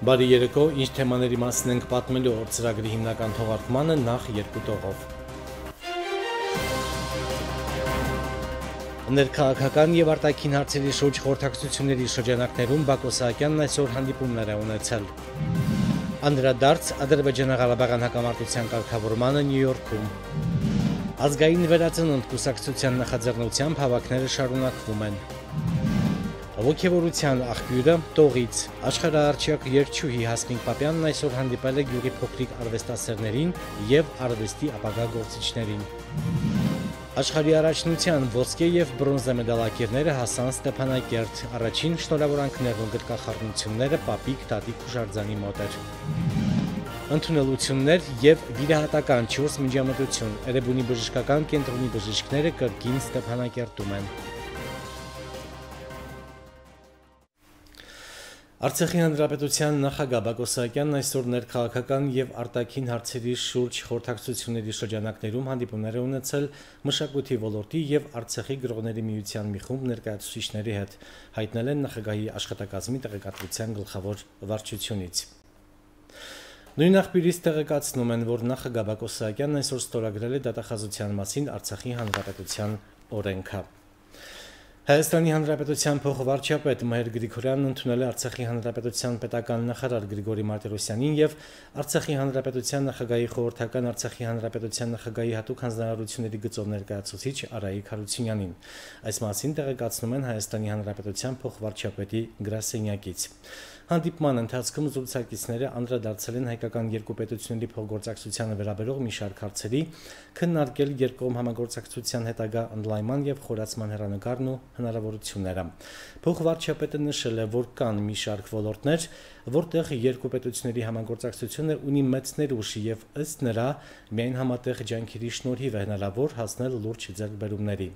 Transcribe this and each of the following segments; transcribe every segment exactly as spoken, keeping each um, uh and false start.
Բարի երեկո, ինչ թեմաների մասին ենք պատմելու օր ծրագրի հիմնական թողարկմանը նախ երկու տողով։ Ներքաղաքական եւ արտաքին հարցերի շուրջ խորհրդակցությունների շրջանակներում Բակո Սահակյանն այսօր հանդիպումներ է ունեցել։ Անդրադարձ Ադրբեջանա-Ղարաբաղյան հակամարտության կարգավորմանը Նյու Յորքում։ Ազգային վերածնունդ կուսակցության նախաձեռնությամբ հավաքները շարունակվում են։ Ոգևորության աղբյուրը տողից աշխարհարչյակ երգչուհի Հասմիկ Պապյանն այսօր հանդիպել է գյուղի փոքրիկ արվեստասերներին եւ արվեստի ապագա գործիչներին։ Աշխարհի առաջնության ոսկե եւ բրոնզե մեդալակիրները հասան Ստեփանակերտ, առաջին շնորհավորանքներն ու գրկախառնությունները Պապիկ Տատիկ Հուշարձանի մոտ էր։ Ընդունելություններ եւ վիրահատական չորս միջամտություն Էրեբունի բժշկական կենտրոնի բժիշկները կրկին Ստեփանակերտում են։ Արցախի հանրապետության նախագահ Բակո Սահակյանն այսօր ներքաղաքական եւ արտաքին հարցերի շուրջ խորհրդակցությունների շրջանակներում հանդիպումներ է ունեցել մշակույթի ոլորտի եւ Արցախի գրողների միության մի խումբ ներկայացուցիչների հետ, հայտնել են նախագահի աշխատակազմի տեղեկատվության գլխավոր վարչությունից։ Նույն աղբյուրից տեղեկացնում են, որ նախագահ Բակո Սահակյանն այսօր ստորագրել է դատախազության մասին Արցախի հանրապետության օրենքը։ Հայաստանի Հանրապետության փոխվարչապետ Մհեր Գրիգորյանն ընդունել է Արցախի Հանրապետության պետական նախարար Գրիգորի Մարտիրոսյանին եւ Արցախի Հանրապետության նախագահի խորհրդական Արցախի Հանրապետության նախագահի հատուկ հանձնարարությունների գծով ներկայացուցիչ Արայիկ Հարությունյանին։ Այս մասին տեղեկացնում են Հայաստանի Հանրապետության փոխվարչապետի գրասենյակից։ Հանդիպման ընթացքում զրուցակիցները անդրադարձել են հայկական երկու պետությունների փոխգործակցությանը վերաբերող մի շարք հարցերի, քննարկել երկկողմ համագործակցության հետագա ընդլայնման եւ խորացման հեռանկարն ու հնարավորությունները։ Փոխվարչապետը նշել է, որ կան մի շարք ոլորտներ, որտեղ երկու պետությունների համագործակցությունը ունի մեծ ներուժ եւ ըստ նրա միայն համատեղ ջանքերի շնորհիվ է հնարավոր հասնել լուրջ ձեռքբերումների։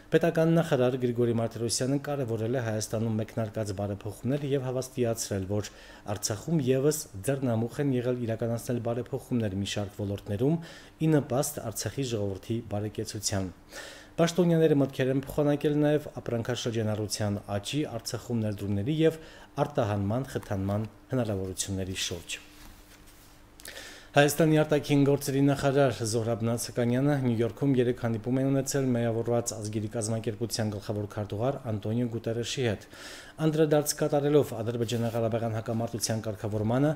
Պետական նախարար Գրիգորի Մարտիրոսյանը կարևորել է Հայաստանում մեկնարկած բարեփոխումները եւ հավաստիացրել, որ Արցախում եւս ձեռնամուխ են եղել իրականացնել բարեփոխումներ մի շարք ոլորտներում, ի նպաստ Արցախի ժողովրդի բարեկեցության։ Պաշտոնյաները մտքեր են փոխանակել նաեւ ապրանքաշրջանառության աճի, Արցախում ներդրումների եւ արտահանման խթանման հնարավորությունների շուրջ։ Հայաստանի արտաքին գործերի նախարար Զոհրաբ Նացականյանը Նյու Յորքում երեք հանդիպում է ունեցել Միավորված ազգերի կազմակերպության գլխավոր քարտուղար Անտոնիո Գուտերեշի հետ։ Անդրադարձ կատարելով Ադրբեջանա-Ղարաբաղյան հակամարտության կարգավորմանը,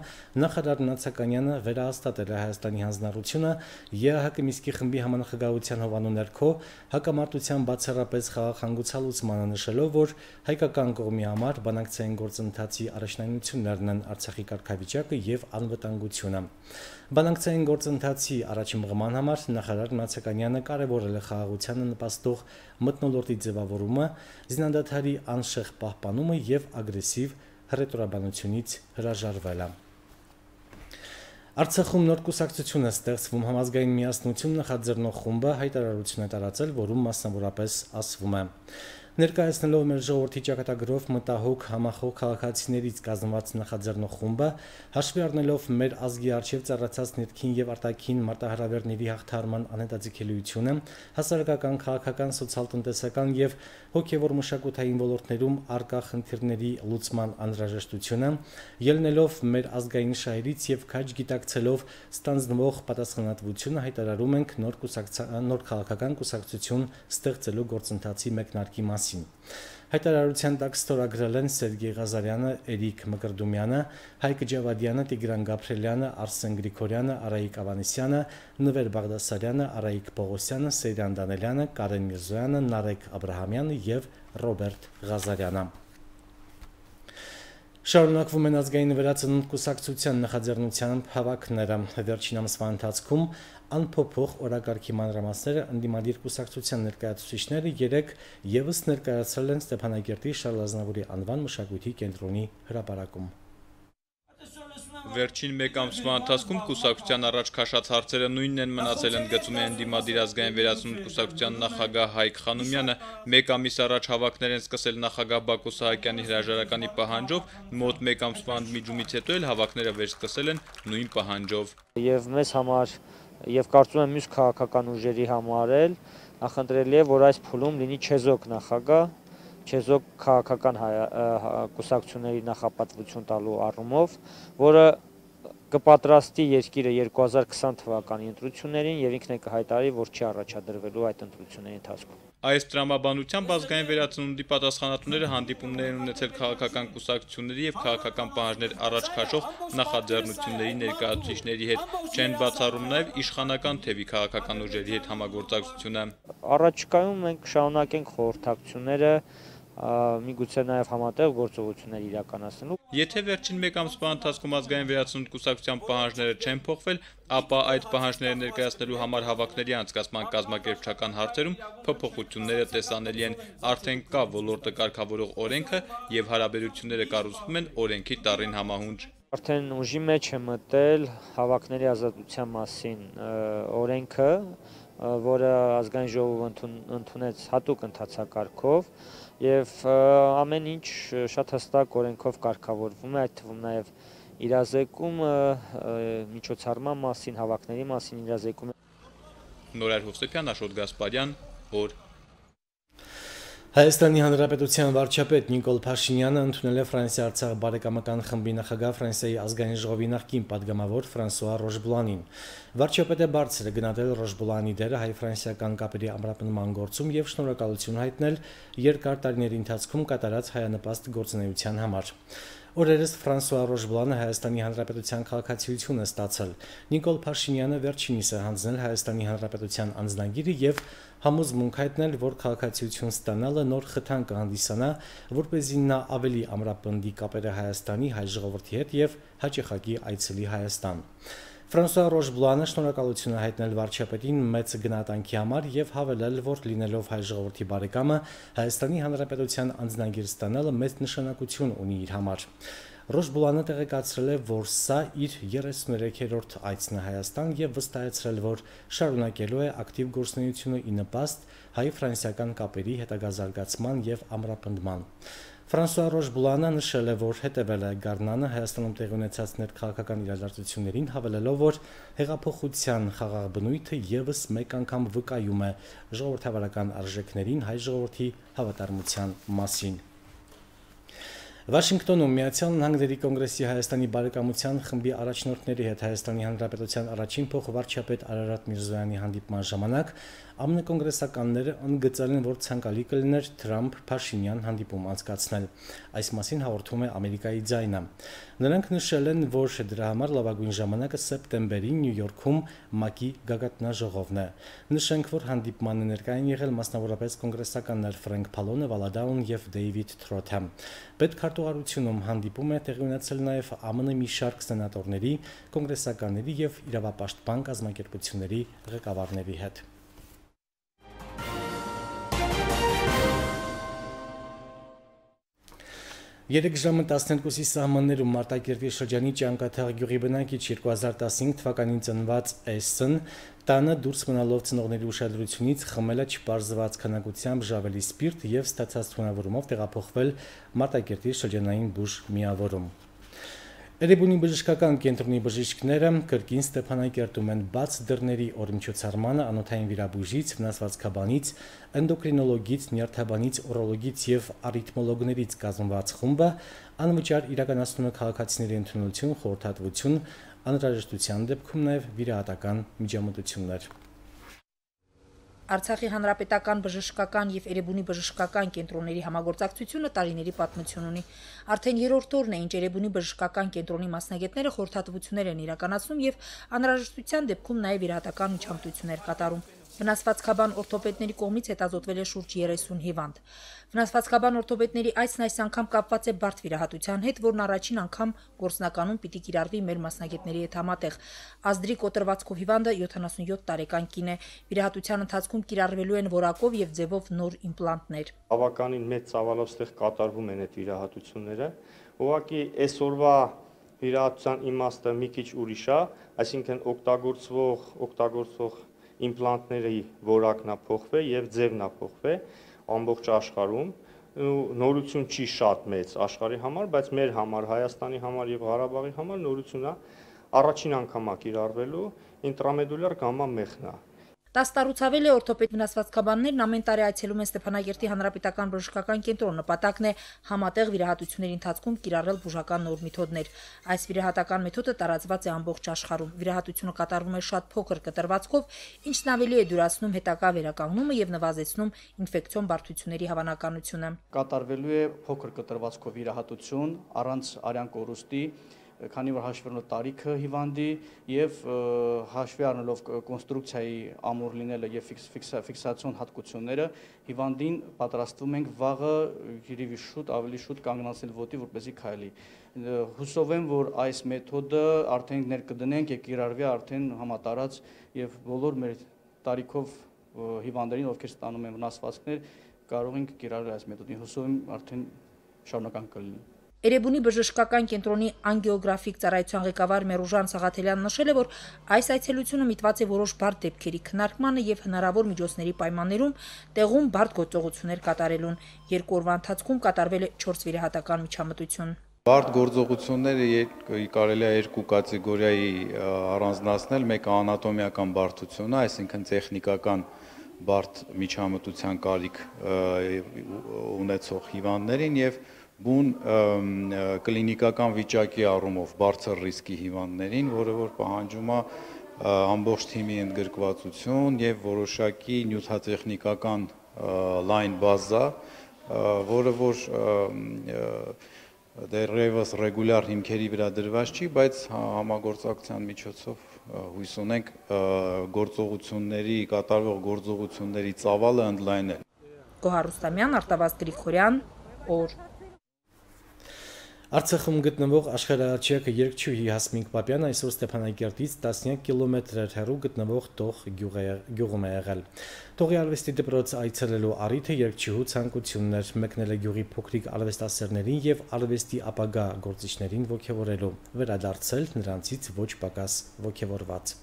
նախարար Նացականյանը վերահաստատել է Հայաստանի հանձնառությունը ԵԱՀԿ Մինսկի խմբի համանախագահության հովանու ներքո հակամարտության բացառապես խաղաղ հանգուցալուծմանը, նշելով, որ հայկական կողմի համար բանակցային գործընթացի առաջնայնություններն են Արցախի կարգավիճակը եւ անվտանգությունը։ Բանակցային գործընթացի առաջին մղման համար նախարար Նացականյանը կարևորել է խաղաղությանը նպաստող մթնոլորտի ձևավորումը, զինադադարի անշեղ պահպանումը եւ ագրեսիվ հռետորաբանությունից հրաժարվելը։ Արցախում նոր կուսակցություն է ստեղծվում համազգային միասնություն նախաձեռնող խումբը հայտարարություն է տարածել, որում մասնավորապես ասվում է. Ներկայացնելով մեր ժողովրդի ճակատագրով մտահոգ համախոհ քաղաքացիներից կազմված նախաձեռնող խումբը, հաշվի առնելով մեր ազգի առջև ծառացած ներքին եւ արտաքին մարտահրավերների հաղթահարման անհետաձգելիությունը, հասարակական, քաղաքական, սոցիալ-տնտեսական եւ հոգեվոր մշակութային ոլորտներում առկա խնդիրների լուծման անհրաժեշտությունը, ելնելով մեր ազգային շահերից եւ քաջ գիտակցելով ստանձնվող պատասխանատվությունը, հայտարարում ենք նոր կուսակցություն, նոր քաղաքական կուսակցություն ստեղծելու գործընթացի մեկնարկի մասին։ Հայտարարության տակ ստորագրել են Սերգեյ Ղազարյանը, Էրիկ Մկրդումյանը, Հայկ Ջավադյանը, Տիգրան Գաբրելյանը, Արսեն Գրիգորյանը, Արայիկ Ավանեսյանը, Նվեր Բաղդասարյանը, Արայիկ Պողոսյանը, Սեյրան Դանելյանը, Կարեն Միրզոյանը, Նարեկ Աբրահամյանը եւ Ռոբերտ Ղազարյանը։ Շարունակվում են ազգային վերածնունդ կուսակցության նախաձեռնությամբ հավաքները։ Վերջին ամսվա ընթացքում անփոփոխ օրակարգի մանրամասները ընդդիմադիր կուսակցության ներկայացուցիչները երեք եւս ներկայացրել են Ստեփանակերտի Շարլ Ազնավուրի անվան մշակույթի կենտրոնի հրապարակում։ Վերջին մեկ ամսվա ընթացքում կուսակցության առաջ քաշած հարցերը նույնն են մնացել, ընդգծում է ընդդիմադիր ազգային վերածնունդ կուսակցության նախագահ Հայկ Խանոմյանը։ Մեկ ամիս առաջ հավաքներ են սկսել նախագահ Բակո Սահակյանի հրաժարականի պահանջով, մոտ մեկ ամսվա ընդմիջումից հետո էլ հավաքները վերսկսել են նույն պահանջով։ Եվ մեզ համար եւ կարծում եմ մյուս քաղաքական ուժերի համար էլ նախընտրելի է, որ այս փուլում լինի չեզոք նախագահ, չեզոք քաղաքական կուսակցությունների նախապատվություն տալու առումով, որը կպատրաստի երկիրը երկու հազար քսան թվականի ընտրություններին եւ ինքն է կհայտարարի, որ չի առաջադրվելու այդ ընտրությունների ընթացքում։ Այս տրամաբանությամբ ազգային վերածնունդի պատասխանատուները հանդիպումներ են ունեցել քաղաքական կուսակցությունների եւ քաղաքական պահանջներ առաջ քաշող նախաձեռնությունների ներկայացուցիչների հետ, չեն բացառում նաեւ իշխանական թևի քաղաքական ուժերի հետ համագործակցությունը։ Առաջիկայում մենք կշարունակենք խորհրդակցությունները, միգուցե նաև համատեղ գործողություններ իրականացնելու։ Եթե վերջին մեկ ամսվա ընթացքում ազգային վերածնունդ կուսակցության պահանջները չեն փոխվել, ապա այդ պահանջները ներկայացնելու համար հավաքների անցկացման կազմակերպչական հարցերում փոփոխությունները տեսանելի են, արդեն կա ոլորտը կարգավորող օրենքը եւ հարաբերությունները կառուցվում են օրենքի տառին համահունչ։ Արդեն ուժի մեջ է մտել հավաքների ազատության մասին օրենքը, որը ազգային ժողովը ընդունեց հատուկ ընթացակարգով եւ ամեն ինչ շատ հստակ օրենքով կարգավորվում է, այդ թվում նաեւ իրազեկումը, միջոցառման մասին, հավաքների մասին իրազեկումը։ Նորայր Հովսեփյան, Աշոտ Գասպարյան, օր։ Հայաստանի Հանրապետության վարչապետ Նիկոլ Փաշինյանը ընդունել է Ֆրանսիա-Արցախ բարեկամական խմբի նախագահ Ֆրանսիայի ազգային ժողովի նախկին падգամավոր Ֆրանսուଆ Ռոշբլանին։ Վարչապետը բարձր է գնահատել Ռոշբլանի դերը հայ-ֆրանսիական կապերի ամրապնդման գործում եւ շնորհակալություն հայտնել երկար տարիների ընթացքում կատարած հայանպաստ գործունեության համար։ Օրերս Ֆրանսուଆ Ռոշբլանը Հայաստանի Հանրապետության քաղաքացիություն է ստացել։ Նիկոլ Փաշինյանը վերջինիս է հանձնել Հայաստանի Հանրապետության անձնագիրը եւ համոզմունք հայտնել, որ քաղաքացիություն ստանալը նոր խթան կհանդիսանա, որպեսզի նա ավելի ամրապնդի կապերը Հայաստանի հայ ժողովրդի հետ եւ հաճախակի այցելի Հայաստան։ Ֆրանսուଆ Ռոշբլանը շնորհակալություն է հայտնել վարչապետին մեծ գնահատանքի համար եւ հավելել, որ լինելով հայ ժողովրդի բարեկամը Հայաստանի Հանրապետության անձնագիր ստանալը մեծ նշանակություն ունի իր համար։ Ռոշբլանը տեղեկացրել է, որ սա իր երեսուններեքերորդ այցն է Հայաստան եւ վստահեցրել, որ շարունակելու է ակտիվ գործունեությունը ի նպաստ հայ-ֆրանսիական կապերի հետագա զարգացման եւ ամրապնդման։ Ֆրանսուଆ Ռոշբլանը նշել է, որ հետևել է Գառնանը Հայաստանում տեղի ունեցած ներքաղաքական իրադարձություններին, հավելելով, որ հեղափոխության խաղաղ բնույթը եւս մեկ անգամ վկայում է ժողովրդավարական արժեքներին հայ ժողովրդի հավատարմության մասին։ Վաշինգտոնում Միացյալ Նահանգների կոնգրեսի Հայաստանի բարեկամության խմբի առաջնորդների հետ Հայաստանի Հանրապետության առաջին փոխվարչապետ Արարատ Միրզոյանի հանդիպման ժամանակ ԱՄՆ կոնգրեսականները ընդգծել են, որ ցանկալի կլիներ Թրամփ-Փաշինյան հանդիպում անցկացնել։ Այս մասին հաղորդում է Ամերիկայի ձայնը։ Նրանք նշել են, որ դրա համար լավագույն ժամանակը սեպտեմբերին Նյու Յորքում ՄԱԿ-ի գագաթնաժողովն է։ Նշենք, որ հանդիպմանը ներկայ են եղել մասնավորապես կոնգրեսականներ Ֆրենկ Փալոնը, Վալադաուն եւ Դեյվիդ Թրոթը։ Պետքարտուղարությունում հանդիպում է տեղի ունեցել նաև ԱՄՆ մի շարք սենատորների, կոնգրեսականների եւ իրավապաշտպան կազմակերպությունների ղեկավարների հետ։ Երեք ժամը տասներկուսի սահմաններում Մարտակերտի շրջանի Ճանկաթաղ գյուղի բնակիչ երկու հազար տասնհինգ թվականին ծնված Էսն տանը դուրս մնալով ծնողների ուշադրությունից խմել է չպարզված քանակությամբ ժավելի սպիրտ եւ ստացած թունավորումով տեղափոխվել Մարտակերտի շրջանային բուժ միավորում։ Էրեբունի բժշկական կենտրոնի բժիշկները կրկին Ստեփանակերտում են բաց դռների օրմիջոցառմանը անոթային վիրաբույժից, վնասվածքաբանից, էնդոկրինոլոգից, նյարդաբանից, օրոլոգից եւ արիթմոլոգներից կազմված խումբը անվճար իրականացնում է քաղաքացիների ընդունելություն, խորհրդատվություն, անհրաժեշտության դեպքում նաեւ վիրահատական միջամտություններ։ Արցախի հանրապետական բժշկական եւ Էրեբունի բժշկական կենտրոնների համագործակցությունը տարիների պատմություն ունի։ Արդեն երրորդ օրն է, ինչ Էրեբունի բժշկական կենտրոնի մասնագետները խորհրդատվություններ են իրականացնում եւ անհրաժեշտության դեպքում նաեւ վիրահատական միջամտություններ կատարում։ Վնասվածքաբան օրթոպեդների կողմից հետազոտվել է շուրջ երեսուն հիվանդ։ Վնասվածքաբան օրթոպեդների այցն այս անգամ կապված է բարդ վիրահատության հետ, որն առաջին անգամ գործնականում պիտի կիրառվի մեր մասնագետների հետ համատեղ։ Ազդրի կոտրվածքով հիվանդը յոթանասունյոթ տարեկան կին է։ Վիրահատության ընթացքում կիրառվելու են որակով եւ ձևով նոր իմպլանտներ։ Բավականին մեծ ծավալով ստեղ կատարվում են այդ վիրահատությունները։ Ուղղակի այսօրվա վիրահատության իմաստը մի քիչ ուրիշ է, այսինքն օգտագործվող օգտագործող իմպլանտների որակն է փոխվել եւ ձևն է փոխվել ամբողջ աշխարհում։ Նորություն չի շատ մեծ աշխարհի համար, բայց մեր համար, Հայաստանի համար եւ Ղարաբաղի համար նորությունն է առաջին անգամ է կիրառվելու ինտրամեդուլյար գամմա մեխնա։ Տասնառուցավել է օրթոպեդ վնասվածքաբաններն ամեն տարի այցելում են Ստեփանագերտի հանրապետական բժշկական կենտրոն։ Նպատակն է համատեղ վիրահատությունների ընթացքում կիրառել բուժական նոր մեթոդներ։ Այս վիրահատական մեթոդը տարածված է ամբողջ աշխարհում։ Վիրահատությունը կատարվում է շատ փոքր կտրվածքով, ինչն ավելի է դյուրացնում հետագա վերականգնումը եւ նվազեցնում ինֆեկցիոն բարդությունների հավանականությունը։ Կատարվելու է փոքր կտրվածքով վիրահատություն առանց արյան կորուստի, քանի որ հաշվի առնելով տարիքը հիվանդի եւ հաշվի առնելով կոնստրուկցիայի ամուր լինելը եւ ֆիքսացիոն հատկությունները, հիվանդին պատրաստվում ենք վաղը երևի շուտ ավելի շուտ կանգնացնել ոտի, որպեսզի քայլի։ Հուսով եմ, որ այս մեթոդը արդեն ներկդնենք եւ կիրառվի արդեն համատարած եւ բոլոր մեր տարիքով հիվանդներին, ովքեր ստանում են վնասվածքներ, կարող ենք կիրառել այս մեթոդին։ Հուսով եմ արդեն շարունակական կլինի։ Էրեբունի բժշկական կենտրոնի անգեոգրաֆիկ ծառայության ղեկավար Մերուժան Սաղաթելյանն նշել է, որ այս այցելությունը միտված է որոշ բարդ դեպքերի քննարկմանը եւ հնարավոր միջոցների պայմաններում տեղում բարդ գործողություններ կատարելուն։ Երկու օրվա ընթացքում կատարվել է չորս վիրահատական միջամտություն։ Բարդ գործողությունները կարելի է երկու կատեգորիայի առանձնացնել, մեկը անատոմիական բարդությունը, այսինքն տեխնիկական բարդ միջամտության կարիք ունեցող հիվանդներին եւ բուն կլինիկական վիճակի առումով բարձր ռիսկի հիվանդներին, որը որ պահանջում է ամբողջ թիմի ընդգրկվածություն եւ որոշակի նյութատեխնիկական լայն բազա, որը որ դեռևս ռեգուլյար հիմքերի վրա դրված չի, բայց համագործակցության միջոցով հույս ունենք գործողությունների, կատարվող գործողությունների ծավալը ընդլայնել։ Գոհար Ռուստամյան, Արտավազդ Գրիգորյան, օր։ Արցախում գտնվող աշխարհաչյակը երգչուհի Հասմիկ Պապյանը այսօր Ստեփանագերտից տասնյակ կիլոմետրեր հեռու գտնվող Տող գյուղում է եղել։ Տողի արվեստի դպրոց այցելելու առիթը երգչուհու ցանկություններ մեկնել է գյուղի փոքրիկ արվեստասերներին եւ արվեստի ապագա գործիչներին ողջևորելու, վերադարձել նրանցից ոչ պակաս ողջևորված։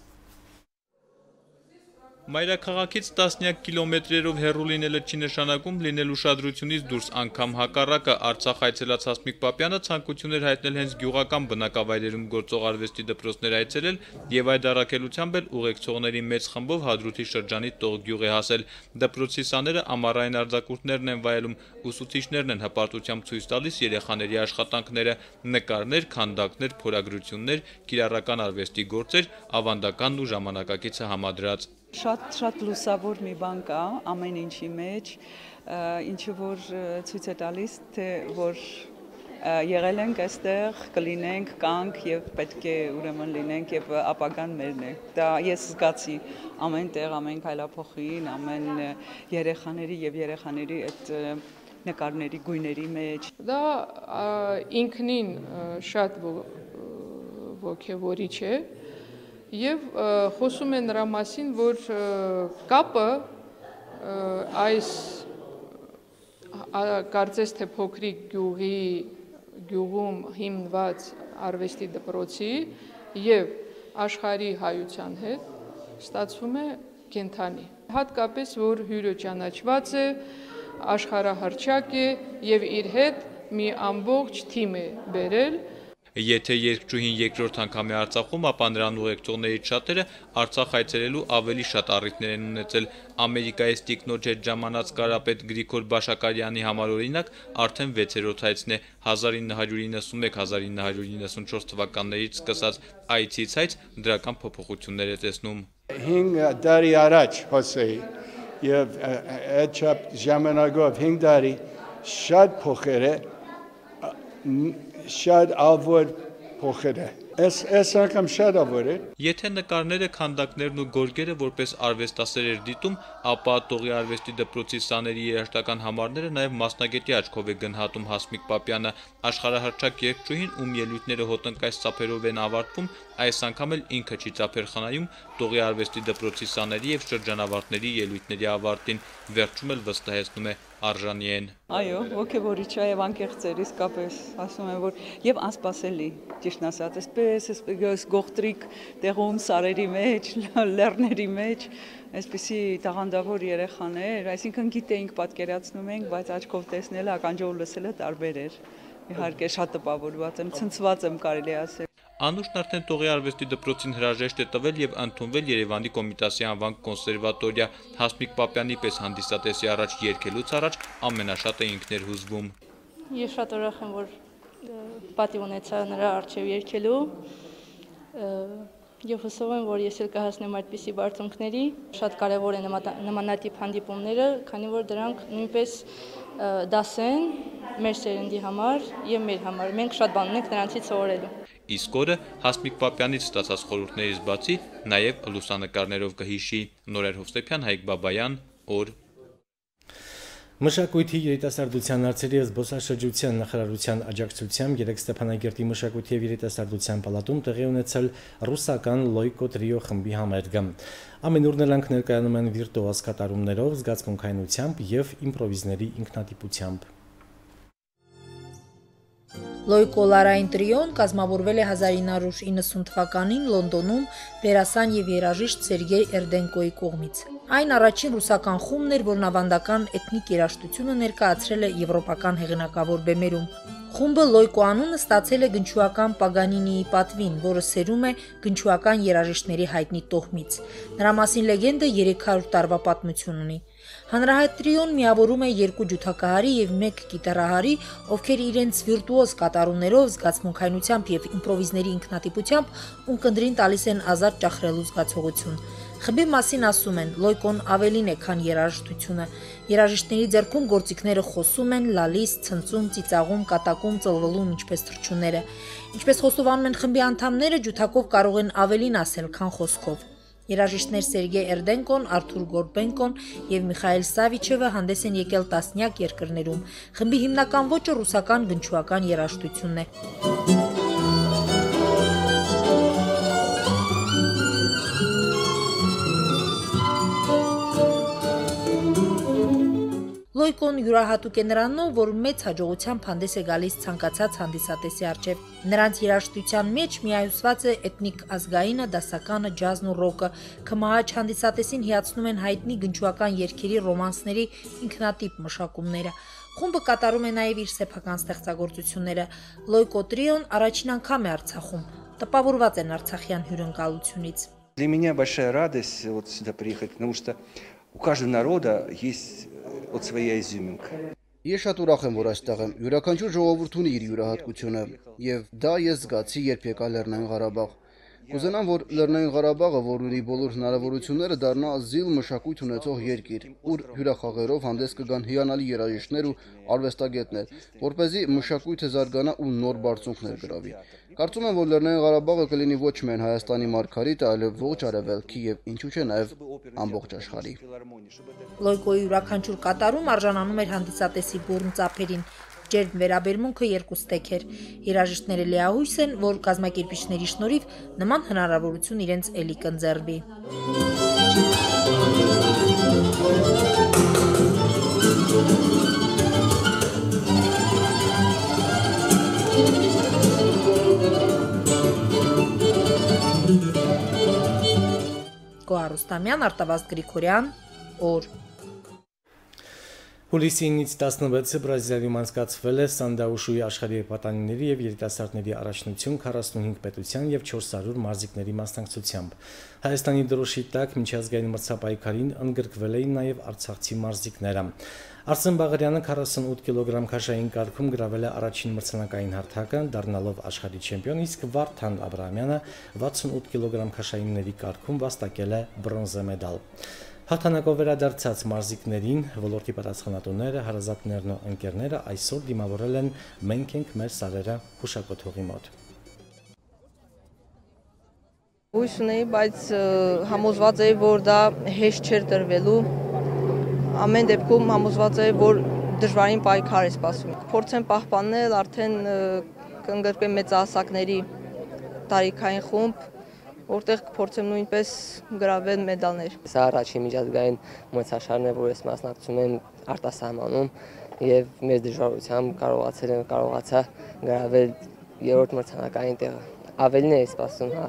Մայրաքաղաքից տասնյակ կիլոմետրերով հեռու լինելը չի նշանակում լինել ուշադրությունից դուրս, անգամ հակառակը։ Արցախ այցելած Հասմիկ Պապյանը ցանկություն էր հայտնել հենց գյուղական բնակավայրերում գործող արվեստի դպրոցներ այցելել եւ այդ առաքելությամբ էլ ուղեկցողների մեծ խմբով Հադրութի շրջանի Տող գյուղ է հասել։ Դպրոցի սաները ամառային արձակուրդներն են վայելում, ուսուցիչներն են հպարտությամբ ցույց տալիս երեխաների աշխատանքները, նկարներ, քանդակներ, փորագրություններ, կիրառական արվեստի գործեր, ավանդականն ու ժամանակակիցը համադրած։ Շատ շատ լուսավոր մի բան կա ամեն ինչի մեջ, ինչը որ ցույց է տալիս, թե որ եղել ենք այստեղ, կլինենք, կանք եւ պետք է ուրեմն լինենք եւ ապագան մերն է։ Դա ես զգացի ամեն տեղ, ամեն քայլափոխին, ամեն երեխաների եւ երեխաների այդ նկարների գույների մեջ։ Դա ինքնին շատ ոգևորիչ է։ Եվ խոսում է նրա մասին, որ կապը այս կարծես թե փոքրիկ գյուղի գյուղում հիմնված արվեստի դպրոցի եւ աշխարհի հայության հետ ստացվում է կենթանի։ Հատկապես որ հյուրը ճանաչված է, աշխարհահռչակ է եւ իր հետ մի ամբողջ թիմ է բերել։ Եթե երգչուհին երկրորդ անգամ է Արցախում, ապա նրան ուղեկցողներից շատերը Արցախ այցելելու ավելի շատ առիթներ են ունեցել։ Ամերիկայից տիկնոջ հետ ժամանած կարապետ Գրիգոր Բաշակարյանի համար օրինակ արդեն վեցերորդ այցն է։ հազար ինը հարյուր իննսունմեկ հազար ինը հարյուր իննսունչորս թվականներից սկսած այցից այց դրական փոփոխություններ է տեսնում։ հինգ տարի առաջ հոսեի եւ այդ ժամանակով հինգ տարի շատ փոխել է, շատ ավոր փոխել է։ Այս անգամ շատ ավոր է։ Եթե նկարները, քանդակներն ու գորգերը որպես արվեստասեր էր դիտում, ապա Տողի արվեստի դպրոցի սաների երաժշտական համարները նաև մասնագետի աչքով է գնահատում Հասմիկ Պապյանը։ Աշխարհահռչակ երգչուհին, ում ելույթները հոտնկայս ծափերով են ավարտվում, այս անգամ էլ ինքը չի ծափեր խնայում Տողի արվեստի դպրոցի սաների եւ շրջանավարտների ելույթների ավարտին, վերջում էլ վստահեցնում է արժանի են։ Այո, ոգևորիչ է եւ անկեղծ է, իսկապես ասում եմ, որ եւ անսպասելի, ճիշտ ասած, այսպես այս գողտրիկ տեղում սարերի մեջ, լեռների մեջ, այսպիսի տաղանդավոր երեխաներ, այսինքն գիտեինք, պատկերացնում ենք, բայց աչքով տեսնելը, ականջով լսելը տարբեր էր։ Իհարկե շատ տպավորված եմ, ցնցված եմ կարելի ասել։ Անուշն արդեն Տողի արվեստի դպրոցին հրաժեշտ է տվել եւ ընդունվել Երևանի Կոմիտասի անվան կոնսերվատորիա։ Հասմիկ Պապյանի պես հանդիսատեսի առաջ երգելուց առաջ ամենաշատը ինքն էր հուզվում։ Ես շատ ուրախ եմ, որ պատիվ ունեցա նրա առջև երգելու եւ հուսով եմ, որ ես էլ կհասնեմ այդպիսի բարձունքների։ Շատ կարեւոր է նմանատիպ հանդիպումները, քանի որ դրանք նույնպես դաս են մեր սերնդի համար եւ մեր համար։ Մենք շատ բան ունենք նրանցից սովորելու։ Իսկ օրը Հասմիկ Պապյանից ստացած խորհուրդներից բացի նաև լուսանկարներով կհիշի Նորեր Հովսեփյան, Հայկ Բաբայան, օր։ Մշակույթի երիտասարդության հարցերի եւ զբոսաշրջության նախարարության աջակցությամբ երեք Ստեփանագերտի մշակույթի եւ երիտասարդության պալատում տեղի ունեցել ռուսական Լոյկո տրիո խմբի համերգը։ Ամեն օր նրանք ներկայանում են վիրտուոզ կատարումներով, զգացմունքայնությամբ եւ իմպրովիզների ինքնատիպությամբ։ Լոյկո լարային տրիոն կազմավորվել է հազար ինը հարյուր իննսուն թվականին Լոնդոնում դերասան եւ երաժիշտ Սերգեյ Էրդենկոյի կողմից։ Այն առաջին ռուսական խումբն էր, որն ավանդական էթնիկ երաժշտությունը ներկայացրել է եվրոպական հեղինակավոր բեմերում։ Խումբը Լոյկո անունը ստացել է գնչուական Պագանինիի պատվին, որը սերում է գնչուական երաժիշտների հայտնի տոհմից։ Նրա մասին լեգենդը երեք հարյուր տարվա պատմություն ունի։ Հանրահայտ տրիոն միավորում է երկու ջութակահարի եւ մեկ գիտարահարի, ովքեր իրենց վիրտուոզ կատարումներով, զգացմունքայնությամբ եւ իմպրովիզների ինքնատիպությամբ ունկնդրին տալիս են ազատ ճախրելու զգացողություն։ Խմբի մասին ասում են, Լոյկոն ավելին է, քան երաժշտությունը։ Երաժիշտների ձեռքում գործիքները խոսում են, լալիս, ցնծում, ծիծաղում, կատակում, ծլվլում, ինչպես թռչունները։ Ինչպես խոստովանում են խմբի անդամները, ջութակով կարող են ավելին ասել, քան խոսքով։ Երաժիշտներ Սերգեյ Էրդենկոն, Արթուր Գորբենկոն եւ Միխայել Սավիչևը հանդես են եկել տասնյակ երկրներում։ Խմբի հիմնական ոճը ռուսական գնչուական երաժշտությունն է։ Լոյկոն յուրահատուկ է նրանով, որ մեծ հաջողությամբ հանդես է գալիս ցանկացած հանդիսատեսի առջև։ Նրանց երաժշտության մեջ միահյուսված է էթնիկ ազգայինը, դասականը, ջազն ու ռոկը։ Քմահաճ հանդիսատեսին հիացնում են հայտնի գնչուական երգերի, ռոմանսների ինքնատիպ մշակումները։ Խումբը կատարում է նաև իր սեփական ստեղծագործությունները։ Լոյկո տրիոն առաջին անգամ է Արցախում, տպավորված են արցախյան հյուրընկալությունից։ Для меня большая радость вот сюда приехать, потому что у каждого народа есть вот своя изюминка. Ես շատ ուրախ եմ, որ այստեղ եմ։ Յուրաքանչյուր ժողովուրդ ունի իր յուրահատկությունը, եւ դա ես զգացի, երբ եկա Լեռնային Ղարաբաղ։ Կուզենամ, որ Լեռնային Ղարաբաղը, որ ունի բոլոր հնարավորությունները, դառնա զիլ մշակույթ ունեցող երկիր, ուր հյուրախաղերով հանդես կգան հիանալի երաժիշտներ ու արվեստագետներ, որպեսզի մշակույթը զարգանա ու նոր բարձունքներ գրավի։ Կարծում եմ, որ Լեռնային Ղարաբաղը կլինի ոչ միայն Հայաստանի մարգարիտը, այլև ողջ Արևելքի եւ ինչու՞ չէ նաեւ ամբողջ աշխարհի։ Լոյկոյի յուրաքանչյուր կատարում արժանանում էր հանդիսատեսի բուրն ծափերին։ Ջերմ վերաբերմունքը երկուստեք էր։ Երաժիշտները լիահույս են, որ կազմակերպիչների շնորհիվ նման հնարավորություն իրենց էլի կընձեռվի։ Գոհար Ռուստամյան, Արտավազդ Գրիգորյան, օր։ Հուլիսի ինից տասնվեցը Բրազիլիայում անցկացվել է Սանդաուշուի աշխարհի պատանիների եւ երիտասարդների առաջնություն քառասունհինգ պետության եւ չորս հարյուր մարզիկների մասնակցությամբ։ Հայաստանի դրոշի տակ միջազգային մրցապայքարին ընդգրկվել էին նաեւ արցախցի մարզիկները։ Արսեն Բաղարյանը քառասունութ կիլոգրամ քաշային կարգում գրավել է առաջին մրցանակային հարթակը, դառնալով աշխարհի չեմպիոն, իսկ Վարդան Աբրահամյանը վաթսունութ կիլոգրամ քաշայինների կարգում վաստակել է բրոնզե մեդալ։ Հաղթանակով վերադարձած մարզիկներին ոլորտի պատասխանատուները, հարազատներն ու ընկերները այսօր դիմավորել են «Մենք ենք մեր սարերը» հուշակոթողի մոտ։ Հույս ունեի, բայց համոզված էի, որ դա հեշտ չէր տրվելու։ Ամեն դեպքում համոզված էի, որ դժվարին պայքար է սպասում։ Փորձեմ պահպանել, արդեն կընդգրկեմ մեծահասակների տարիքային խումբ, որտեղ կփորձեմ նույնպես գրավել մեդալներ։ Սա առաջին միջազգային մրցաշարն է, որ ես մասնակցում եմ արտասահմանում եւ մեծ դժվարությամբ կարողացել եմ կարողացա գրավել երրորդ մրցանակային տեղը։ Ավելին է սպասում, հա,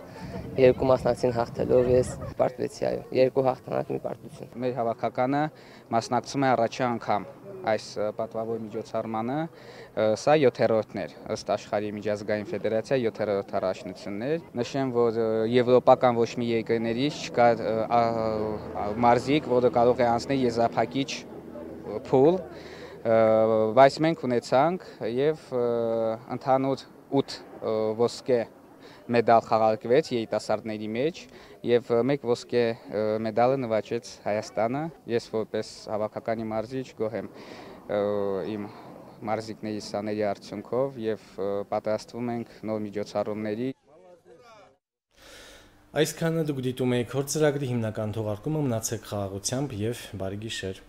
երկու մասնակցին հաղթելով ես պարտվեցի, այո, երկու հաղթանակ մի պարտություն։ Մեր հավաքականը մասնակցում է առաջի անգամ այս պատվավոր միջոցառմանը, սա յոթերորդն էր, ըստ աշխարհի միջազգային ֆեդերացիա յոթերորդ առաջնությունն էր։ Նշեմ, որ եվրոպական ոչ մի երկրներից չկա մարզիկ, որը կարող է անցնել եզրափակիչ փուլ, բայց մենք ունեցանք եւ ընդհանուր ութ ոսկե մեդալ խաղարկվեց երիտասարդների մեջ եւ մեկ ոսկե մեդալը նվաճեց Հայաստանը։ Ես որպես հավաքականի մարզիչ գոհ եմ իմ մարզիկների սաների արդյունքով եւ պատրաստվում ենք նոր միջոցառումների։ Այսքանը դուք դիտում եք Հոր ծրագրի հիմնական թողարկումը, մնացեք խաղաղությամբ եւ բարի գիշեր։